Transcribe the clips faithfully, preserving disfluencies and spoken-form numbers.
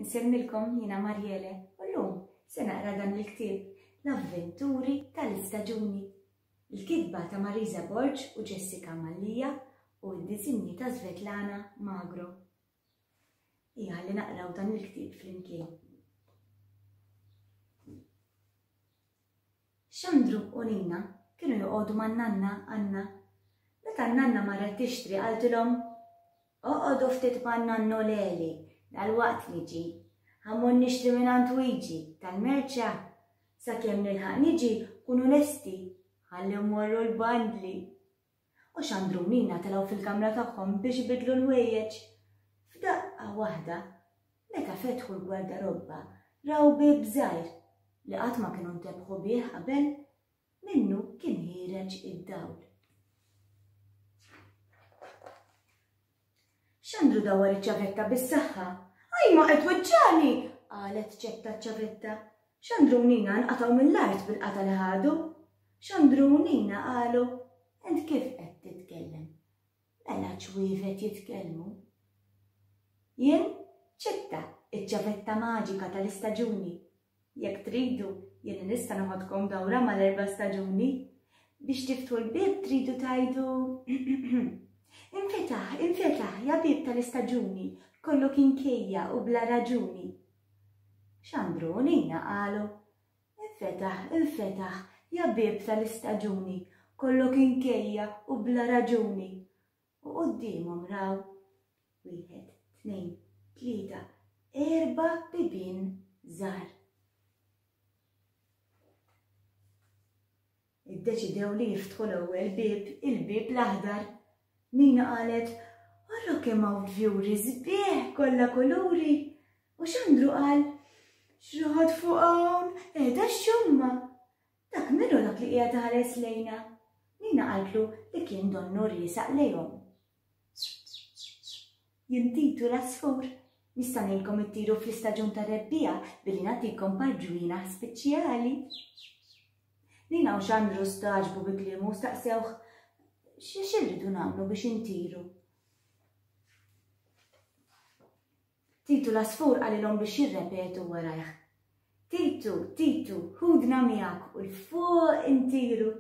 Insellmilkom jiena Mariele u llum se naqra dan il-ktieb L-Avventuri tal-Istaġuni. Il-kitba ta' Marisa Borg u Jessica Mallia u d-disinji ta' Svetlana Magro. Ija ħalli naqraw dan il-ktieb flimkien. Xandru u Nina kienu joqogħdu man-nanna Anna. Meta n-nanna marret tixtri qaltilhom, Oqogħdu ftit man-nannu Leli, dalwaqt niġi. Ħa mmur nixtri mingħand Wiġi tal-merċa. Sakemm nilħaq niġi kunu lesti ħalli mmorru l-bandli. U Xandru u Nina telgħu fil-kamra tagħhom biex ibiddlu l-ħwejjeġ. F'daqqa waħda, meta fetħu l-gwardarobba, raw bieb żgħir li qatt ma kienu ntebħu bih qabel, minnu kien ħiereġ id-dawl. Xandru dawwar iċ-ċavetta bis-saħħa. Ajma qed tweġġagħni! qalet Ċetta ċ-ċavetta. Xandru u Nina nqatgħu mill-art bil-qatgħa li ħadu. Xandru u Nina qalu, Int kif qed titkellem? Mela ċwievet jitkellmu. Jien Ċetta, iċ-ċavetta maġika tal-istaġuni. Jekk tridu, jien nista' noħodkom dawra mal-erba' staġuni. Biex tiftħu l-bieb tridu tgħidu Infetaħ, infetaħ, ja bieb tal-istaġuni, kollok inkejja u bla raġuni. Xandru u Nina qalu Infetaħ, infetaħ, ja bieb tal-istaġuni, kollok inkejja u bla raġuni. U quddiemhom raw wieħed, tnejn, tlieta, erba' bibien żgħar. Iddeċidew li jiftħu l-ewwel bieb, il-bieb l-aħdar. Nina qalet, Ara kemm hawn fjuri sbieħ kollha kuluri. U Xandru qal, X'roħod fuq hawn, qiegħda x-xumma. Dak min hu dak li qiegħed iħares lejna? Nina qaltlu li kien donnu riesaq lejhom. Jien Titu l-għasfur. Nista' ngħinkom ittiru fl-istaġun tar-rebbiegħa billi nagħtikom par ġwienaħ speċjali. Nina u Xandru stagħġbu bi kliemu u staqsewh, X'irridu nagħmlu biex intiru? Titu l-għasfur qalilhom biex jirrepetu warajh. Titu, Titu, ħudna miegħek u 'l fuq intiru.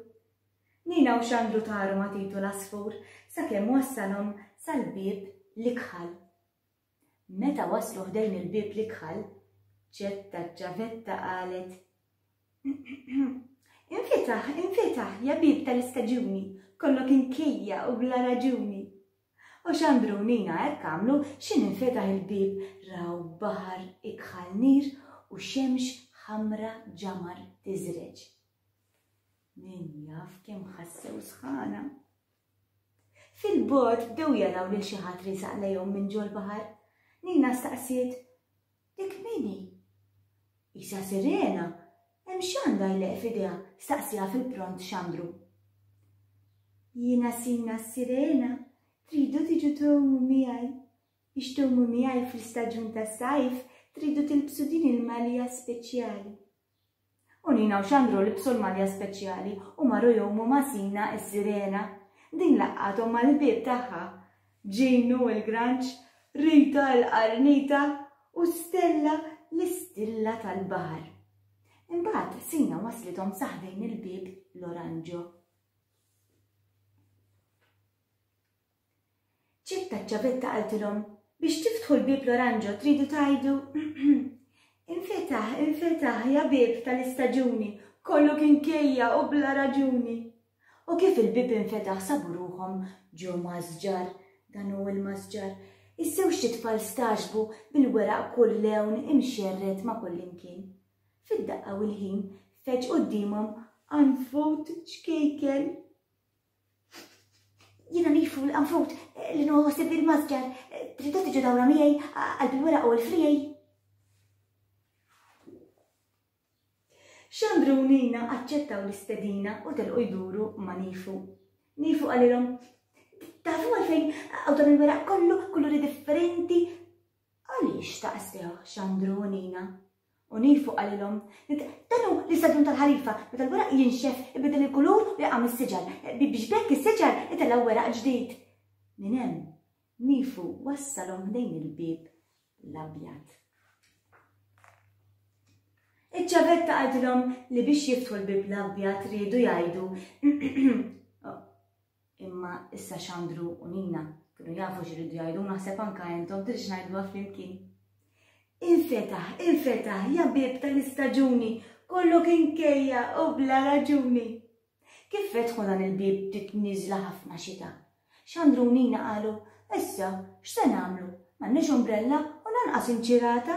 Nina u Xandru taru ma' Titu l-għasfur sakemm wassalhom sal-bieb l-ikħal. Meta waslu ħdejn il-bieb l-ikħal, Ċetta ċ-ċavetta qalet, Infetaħ, infetaħ, ja bieb tal-istaġuni, kollok inkejja u bla raġuni. U Xandru u Nina hekk għamlu, x'in infetaħ il-bieb raw baħar ikħal nir u xemx ħamra ġamar tiżreġ. Min jaf kemm ħassew sħana. Fil-bogħod bdew jaraw lil xi ħadd riesaq lejhom minn ġol-baħar. Nina staqsiet, Dik min hi? Qisha sirena, hemm x'għandha jleqq f'idejha? staqsieha fil-pront Xandru. Jiena Sina s-sirena, tridu tiġu tgħumu miegħi? Biex tgħumu miegħi fl-istaġun tas-sajf tridu tilbsu din il-malja speċjali. U Nina u Xandru libsu l-malja speċjali u marru jgħumu ma' Sina s-sirena. Din laqqathom mal-ħbieb tagħha, Ġinu l-granċ, Rita l-qarnita u Stella l-istilla tal-baħar. Imbagħad Sina waslithom sa ħdejn il-bieb l-oranġo. Ċitta ċ-ċavetta qaltilhom, Biex tiftħu l-bieb l-oranġo tridu tgħidu, Infetaħ, infetaħ, ja bieb tal-istaġuni, kollok inkejja u bla raġuni. U kif il-bieb infetaħ sabu ruħhom ġo masġar, dan hu l-masġar. Iż-żewġt itfal stagħġbu bil-weraq kull lewn imxerred ma' kullimkien. Fid-daqqa u l-ħin feġġ quddiemhom qanfud ċkejken. Jiena nifu l-qanfud li nieħu ħsieb il-masġar. Tridu tiġu dawra miegħi qalb il-weraq u l-friegħi? Xandru u Nina aċċettaw l-istedina u telqu jduru ma' Nifu. Nifu qalilhom, Tafu għalfejn hawn dan il-weraq kollu, kuluri differenti? Għaliex staqsew Xandru u Nina. U Nifu qalilhom, Dan hu l-istaġun tal-ħarifa, meta l-weraq jinxef, ibiddel il-kulur u jaqa' mis-siġar, biex b'hekk is-siġar itellgħu weraq ġdid. Minn hemm, Nifu wassalhom ħdejn il-bieb l-abjad. Iċ-ċavetta qaltilhom li biex jiftħu l-bieb l-abjad riedu jgħidu Imma issa Xandru u Nina kienu jafu x'iridu jgħidu naħseb anka intom tridx ngħiduha flimkien. Infetaħ, infetaħ, ja bieb tal-istaġuni, kollu kien kejja u bla raġuni. Kif fetħu dan il-bieb bdiet nieżla ħafna xita. Xandru u Nina qalu, issa, x'se nagħmlu? M'għandniex umbrella u lanqas inċirata.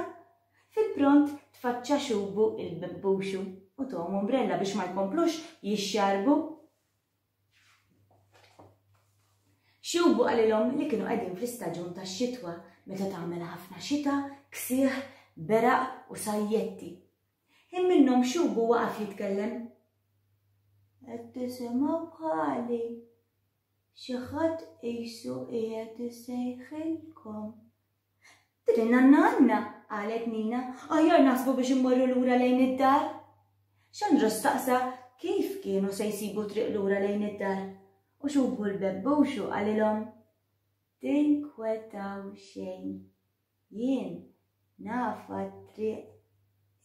Fil-pront tfaċċa Xubu il-bebbuxu u tahom umbrella biex ma jkomplux jixxarbu. Xubu qalilhom li kienu qegħdin fl-istaġun tax-xitwa meta tagħmel ħafna xita, ksieħ, beraq u sajjetti. Ħin minnhom Xubu waqaf jitkellem. Qed tisimgħu bħali. Xi ħadd qisu qiegħed isejħilkom. Din in-nanna Anna, qalet Nina, aħjar naħsbu biex immorru lura lejn id-dar. Xandru staqsa kif kienu se jsibu triq lura lejn id-dar. U Xubu l-bebbuxu qalilhom, tinkwetaw xejn, jien nafa t-triq.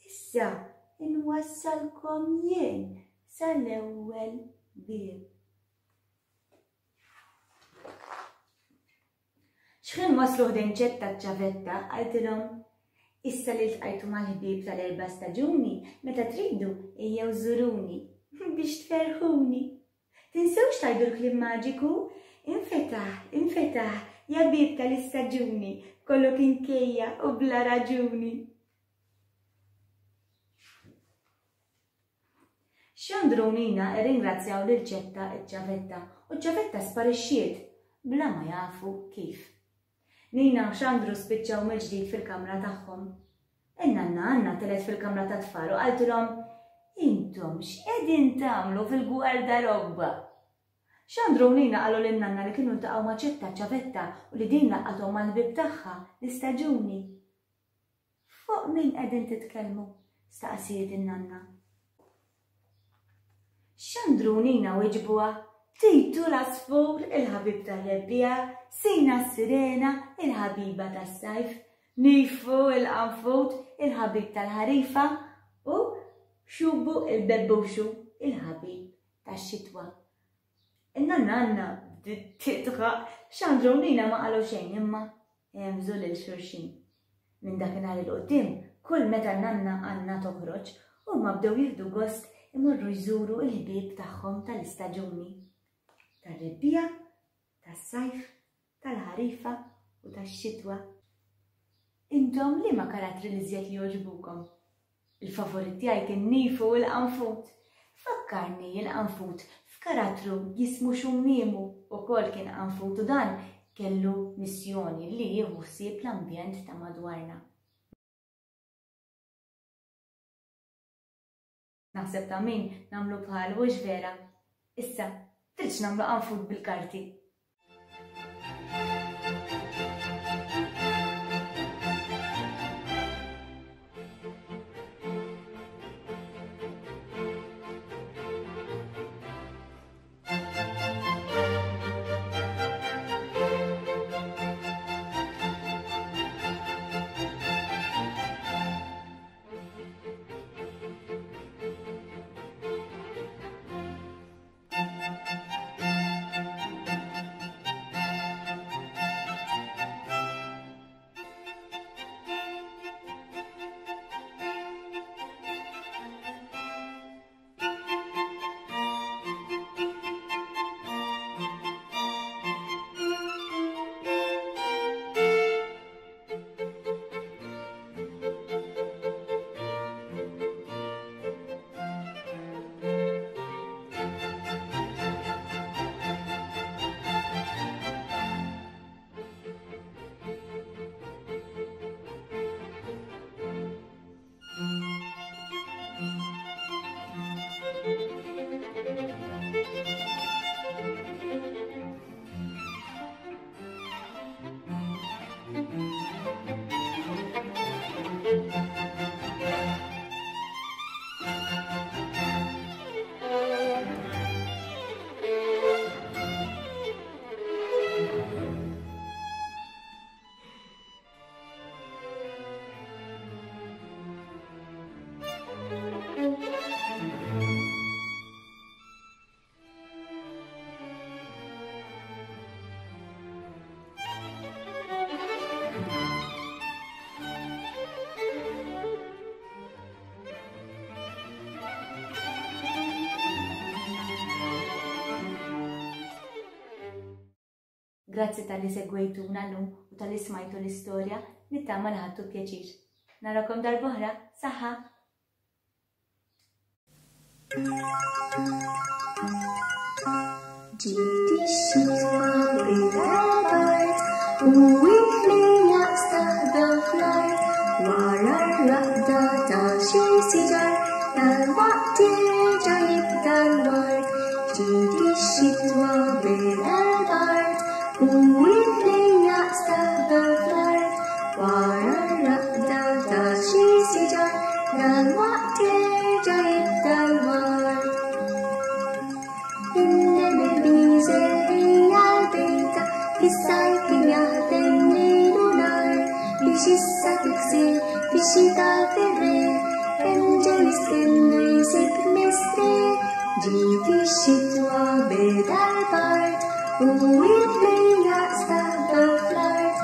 Issa inwassalkom jien sal-ewwel bieb. X'ħin waslu ħdejn Ċetta ċ-ċavetta, qaltilhom, issa li ltqajtu mal-ħbieb tal-erba' staġuni, meta tridu ejjew żuruni biex tferrħuni. Tinsewx tgħidu l-kliem maġiku, infetaħ, infetaħ, ja bieb tal-istaġuni, kollu kien kejja u bla raġuni. Xandru u Nina rringrazzjaw lil Ċetta ċ-ċavetta u ċ-ċavetta sparixxiet bla ma jafu kif. Nina u Xandru spiċċaw mill-ġdid fil-kamra tagħhom. In-nanna Anna telgħet fil-kamra tat-tfal u qaltilhom, intom x'qegħdin tagħmlu fil-gwardarobba? Xandru u Nina qalu lin-nanna li kienu ltaqgħu ma' Ċetta ċ-ċavetta u li din laqqathom mal-ħbieb tagħha l-istaġuni. Fuq min qegħdin titkellmu? Staqsiet in-nanna. Xandru u Nina wieġbuha, Titu l-għasfur, il-ħabib tar-rebbiegħa, Sina s-sirena, il-ħabiba tas-sajf, Nifu il-qanfud, il-ħabib tal-ħarifa, u Xubu il-bebbuxu, il-ħabib tax-xitwa. In-nanna Anna bdiet tidħaq, Xandru u Nina ma qalu xejn imma hemżu lil xulxin. Minn dakinhar il quddiem, kull meta n-nanna Anna toħroġ, huma bdew jieħdu gost imorru jżuru l-ħbieb tagħhom tal-istaġuni. Tar-rebbiegħa, tas-sajf, tal-ħarifa u tax-xitwa. Intom liema karattri l-iżjed li jogħġbukom? Il-favorit tiegħi kien Nifu il-qanfud. Fakkarni il-qanfud f'karattru jismu Xummiemu ukoll kien qanfud u dan kellu missjoni li jieħu ħsieb l-ambjent ta' madwarna. Naħseb ta' min nagħmlu bħalu hux vera? Issa, tridx nagħmlu qanfud bil-karti. Grazzi talli segwejtuna llum u talli smajtu l-istorja, nittama li ħadtu pjaċir. Narakom darb'oħra, saħħa! Ġiet ix-xitwa beda l-bard u l-ħlejjaq staħbew fl-art wara r-raqda ta' xi siġar dalwaqt jerġa' jibda l-ward. Ġiet ix-xitwa beda l-bard u l-ħlejjaq staħbew fl-art wara r-raqda ta' xi siġar dalwaqt jerġa' jibda l-ward. Fis-sajf kien jaħdem lejl u nhar biex issa tiksir fix-xita fir-riħ kemm ġew jistennu jsib mistrieħ. Ġiet ix-xitwa beda l-bard u l-ħlejjaq staħbew fl-art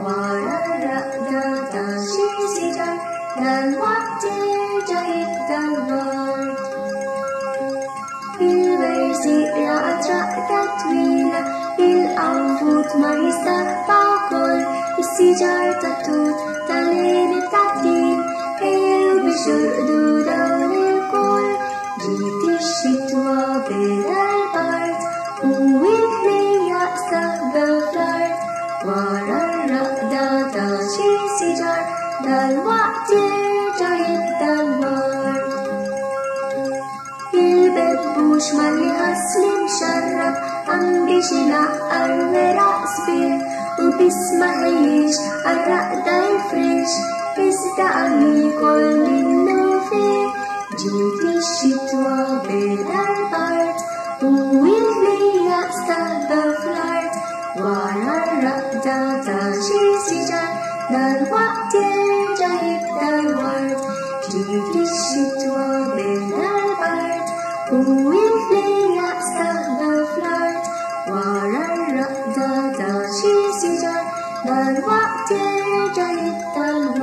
wara r-raqda ta' xi siġar dalwaqt jerġa' jibda l-ward. Il-werżieq raqad raqda twila, il-qanfud ma jistaħba wkoll, is-siġar tat-tut tal-għeneb tat-tin ejjew biex jorqdu dawn ilkoll. Ġiet ix-xitwa beda l-bard u l-ħlejjaq staħbew fl-art wara r-raqda ta' xi siġar dalwaqt jerġa' jibda l-ward. Il-bebbux malli ħass li mxarrab qam biex inaqqar weraq sbieħ u biss ma ħejjiex għar-raqda jfrix iżda qam jiekol minnu fih. Ġiet ix-xitwa beda l-bard u l-ħlejjaq staħbew fl-art wara r-raqda ta' xi siġar dalwaqt jerġa' jibda l-ward. Ġiet ix-xitwa beda l-bard u l-ħlejjaq staħbew fl-art wara r-raqda ta' xi siġar dalwaqt jerġa' jibda l-ward.